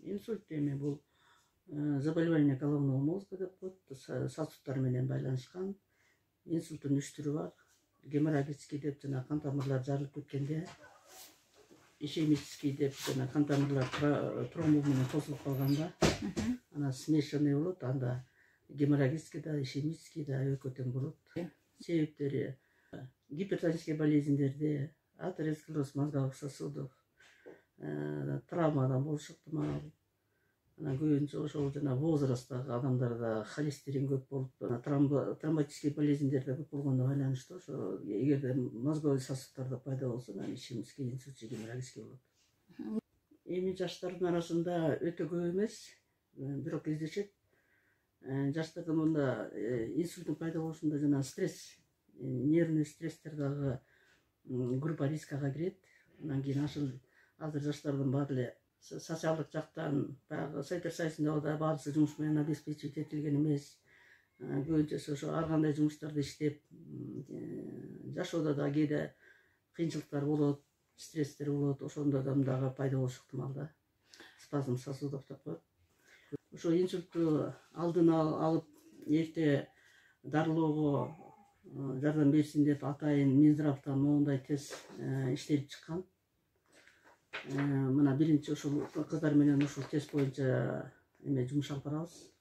Инсульт эми бул заболевание головного мозга деп коет, сосуддар менен байланышкан. Инсульттун 3 түрү бар. Геморрагический деп жана кан тамырлар жарылып кеткенде, ишемический деп жана кан тамырлар тромб менен тосулуп калганда, анан смешанный болот. Анда геморрагический да, ишемический да экөө тең болот. Себептери гипертонический болезньдерде, атеросклероз мозговых сосудов, травмадан болушу ыктымал. Анан көбүнчө ошол жана возрасттагы адамдарда холестерин көп болуп, тромботический болезньдерде көп болгондо байланыштуу. Ошо эгерде мозговой сосуддарда пайда болсо, анан ишемический инсульт же геморрагический болот. Эми жаштардын арасында өтө көп эмес, бирок кездешет. Жаштарда мында инсульттун пайда болушунда жана стресс, нервный стресстер дагы группа рискага кирет. Анан кийин азыр жаштардын баары эле социалдык жактан баягы Совет Союзунда баардыгы жумуш менен обеспечивать этилген эмес. Көбүнчөсү ошо ар кандай жумуштарды иштеп, жашоодо да кээде кыйынчылыктар болот, стресстер болот. Ошондо дагы пайда болушу ыктымал да. Спазм сосудов деп коет. Ошо инсультту алдын алып, эрте дарылоого жардам берсин деп атайын Минздравтан моундай тест иштелип чыккан. Мына биринчи ушул кыздар менен ушул тест боюнча жумуш алып барабыз.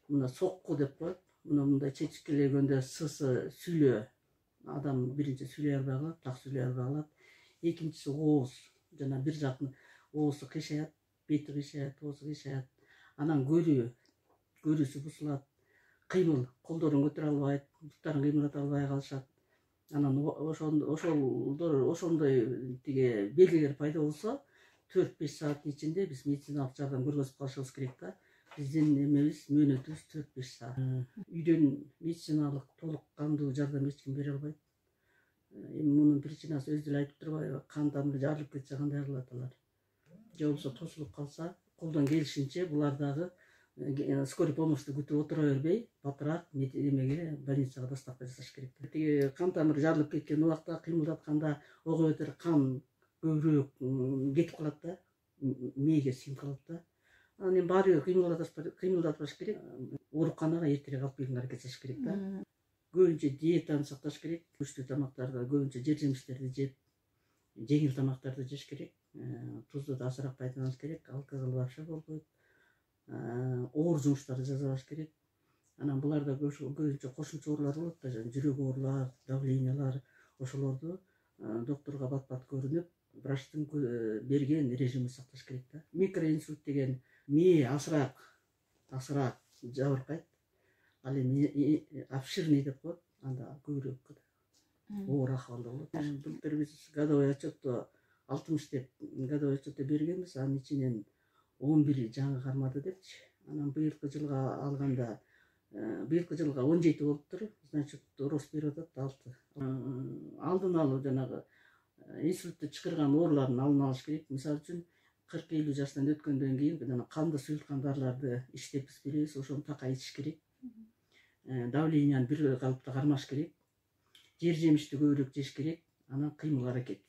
Мына сокку деп коет. Мындай чечкилегөндө сысы сүйлөө. Адам биринчи сүйлөй албай калат, так сүйлөй албай калат. Экинчиси ооз, жана бир жактын оозу кыйшаят, бети кыйшаят, оозу кыйшаят. Анан көрүүсү бузулат. Кыймыл, колдорун көтөрө албайт, буттарын кыймылдата албай калышат. Анан ошондой тиги белгилер пайда болсо, 4-5 сааттын ичинде биз медициналык жардам көргөзүп калышыбыз керек да. Биздин эмебиз, мөөнөтүбүз 4-5 саат. Үйдөн медициналык толук кандуу жардам эч ким бере албайт. Эми мунун причинасы өзү эле айтып турбайбы? Кан тамыры жарылып кетсе кандай кылат алар? Же болбосо тосулуп калса, колдон келишинче булар дагы скорый помощьту күтүп отура бербей, батыраак эмеге, больницага доставка жасаш керек. Тиги кан тамыры жарылып кеткен убакта кыймылдатканда ого бетер кан көбүрөөк кетип калат да, мээге сиңип калат да. Анан эми баары кыймылдатпаш керек. Ооруканага эртерээк алып келгенге аракет кылыш керек да. Көбүнчө диетаны сакташ керек. Күчтүү тамактарды, көбүнчө жер жемиштерди жеп, жеңил тамактарды жеш керек. Тузду да азыраак пайдаланыш керек. Алкоголь вообще болбойт. Оор жумуштарды жазабаш керек. Анан буларда көбүнчө кошумча оорулар болот да, жүрөк оорулар, давлениялар. Ошолорду доктурга бат-бат көрүнүп, врачтын берген режимин сакташ керек да. Микроинсульт деген мээ азыраак жабыркайт. Ал эми обширный деп коет, анда көбүрөөк оор акыбалда болот. Былтыр биз годовой отчетто 60 деп годовой отчетто бергенбиз, анын ичинен 11 жаңы кармады депчи. Анан быйылкы жылга алганда, быйылкы жылга 17 болуптур, значит рост берип атат 6. Алдын алуу жанагы инсультту чакырган оорулардын алдын алыш керек. Мисалы үчүн 40-50 жаштан өткөндөн кийин жана канды суюлткан дарыларды иштеп биз беребиз, ошону такай ичиш керек. Давленияны бир калыпта кармаш керек. Жер жемишти көбүрөөк жеш керек. Анан кыймыл аракет.